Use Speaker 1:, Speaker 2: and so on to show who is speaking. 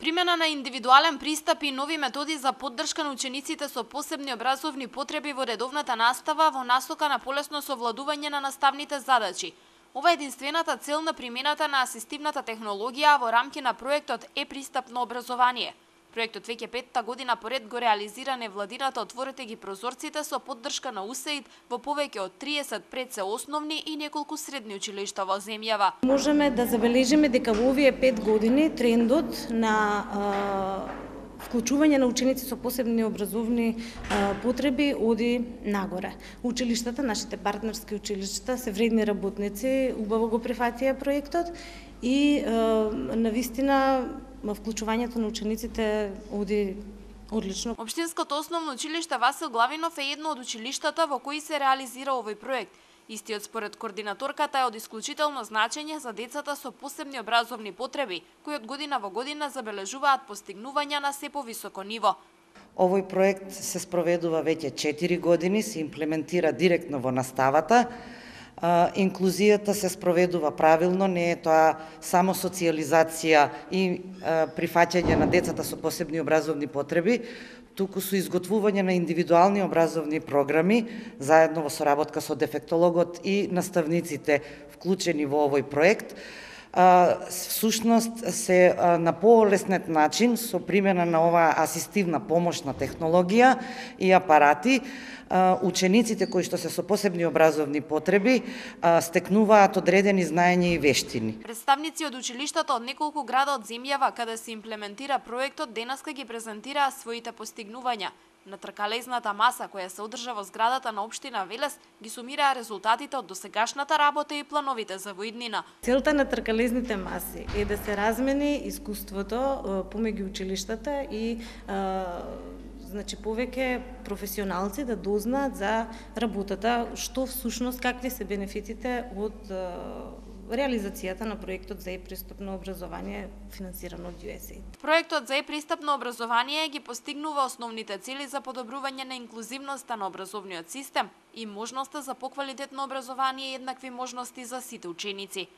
Speaker 1: примена на индивидуален пристап и нови методи за поддршка на учениците со посебни образовни потреби во редовната настава во насока на полесно совладување на наставните задачи. Ова е единствената цел на примената на асистивната технологија во рамки на проектот Е-пристапно образование. Проектот веќе петта година поред го реализира невладината Отворете ги прозорците со поддршка на УСАИД во повеќе од 30 предсе основни и неколку средни училишта во земјава.
Speaker 2: Можеме да забележиме дека во овие 5 години трендот на вклучување на ученици со посебни образовни потреби оди нагоре. Училиштата, нашите партнерски училишта се вредни работници, убаво го прифатија проектот и навистина вклучувањето на учениците оди одлично.
Speaker 1: Општинското основно училиште Васил Главинов е едно од училиштата во кои се реализира овој проект. Истиот според координаторката е од исклучително значење за децата со посебни образовни потреби, кои од година во година забележуваат постигнувања на се повисоко ниво.
Speaker 3: Овој проект се спроведува веќе 4 години, се имплементира директно во наставата. Инклузијата се спроведува правилно, не е тоа само социјализација и прифаќање на децата со посебни образовни потреби, туку со изготвување на индивидуални образовни програми, заедно во соработка со дефектологот и наставниците вклучени во овој проект. Всушност се на полеснет начин со примена на оваа асистивна помошна технологија и апарати, учениците кои што се со посебни образовни потреби стекнуваат одредени знаења и вештини.
Speaker 1: Представници од училиштата од неколку града од земјава каде се имплементира проектот денеска ги презентираа своите постигнувања. На тркалезната маса која се одржа во зградата на општина Велес ги сумираа резултатите од досегашната работа и плановите за воиднина.
Speaker 2: Целта на тркалезните маси е да се размени искуството помеѓу училиштата и повеќе професионалци да дознаат за работата, што всушност какви се бенефитите од реализацијата на проектот за Е-пристапно образование финансирано од USAID.
Speaker 1: Проектот за Е-пристапно образование ги постигнува основните цели за подобрување на инклузивноста на образовниот систем и можноста за поквалитетно образование и еднакви можности за сите ученици.